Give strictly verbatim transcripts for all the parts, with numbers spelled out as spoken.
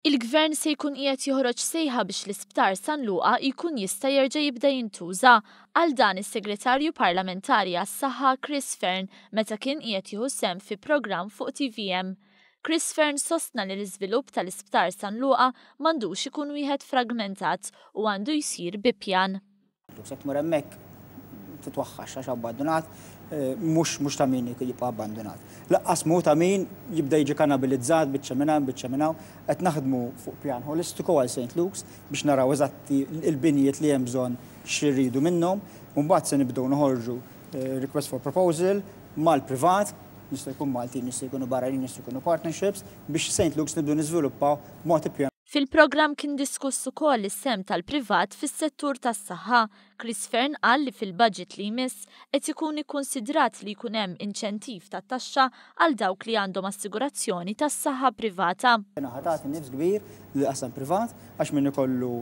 Il-Gvern se jkun qiegħed joħroġ sejħa biex l-Isptar San Luqa jkun jista' jerġa' jibda jintuża. Għal dan is-Segretarju Parlamentari għas-Saħħa Chris Fearne meta kien qiegħed jieħu sehem fi programm fuq T V M. Chris Fearne sostna li l-iżvilupp tal-Isptar San Luqa m'għandux ikun wieħed fragmentat u għandu jsir bi pjan. Se tmur hemmhekk titwaħħax għax abbandonat, eh, mhux mhux ta' min jibqa' abbandonat. Lanqas mhu ta' min jibda jiġi kannibalizzat biċċa minn hawn, biċċa minn hawn. Qed naħdmu fuq pjan holistiku għal Saint Luke's biex naraw eżatti il-binjiet li hemm bżonn, x'irridu minnhom, u mbagħad se nibdew noħorġu eh, request for proposal mal-privat, jista' jkun Maltin, jista' jkunu barranin, jista' jkunu partnerships, biex Saint Luke's nibdew niżviluppaw mod ippjan. Fil-programm kien diskuss ukoll is-sehem tal-privat fis-settur tas-saħħa. Chris Fearne qal li fil-budget li jmiss qed ikun ikkonsidrat li jkun hemm inċentiv tat-taxxa għal dawk li għandhom assigurazzjoni tas-saħħa privata. Ħa tagħti nifs kbir lill-qasam privat għax min ikollu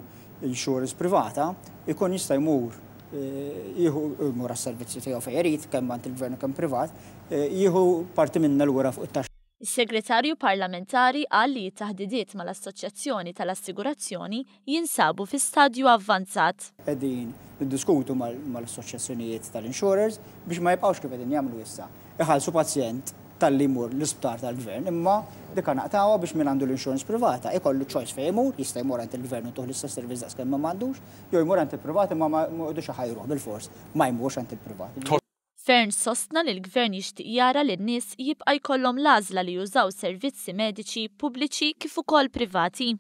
insurance privata ikun jista' jmur eh, jieħu jmur għas-servizzi tiegħu fejn irid, kemm għand il-gvern u kemm privat, eh, jieħu parti minna lura fuq it-taxxa. Is-segretarju parlamentari qal li t-taħdidiet mal-Assoċjazzjoni tal-Assigurazzjoni jinsabu fi stadju avvanzat. Qegħdin niddiskutu mal-assoċjazzjonijiet tal-insurers biex ma jibqgħux kif qegħdin jagħmlu issa. Iħallsu pazjent talli jmur l-isptar tal-gvern, imma dik naqtgħuha biex min għandu l-insurance privata ikollu choice fejn jmur, jista' jmur għand il-gvern u ttuh l-istess servizz daqs kemm ma m'għandux, jew jmur għand il-privat, imma ma jqogħdux iħajruh bil-fors ma jmurx għand il-privat. Fearne sostna li l-gvern jixtieq jara li n-nies jibqa' jkollhom l-għażla li jużaw servizzi mediċi pubbliċi kif ukoll privati.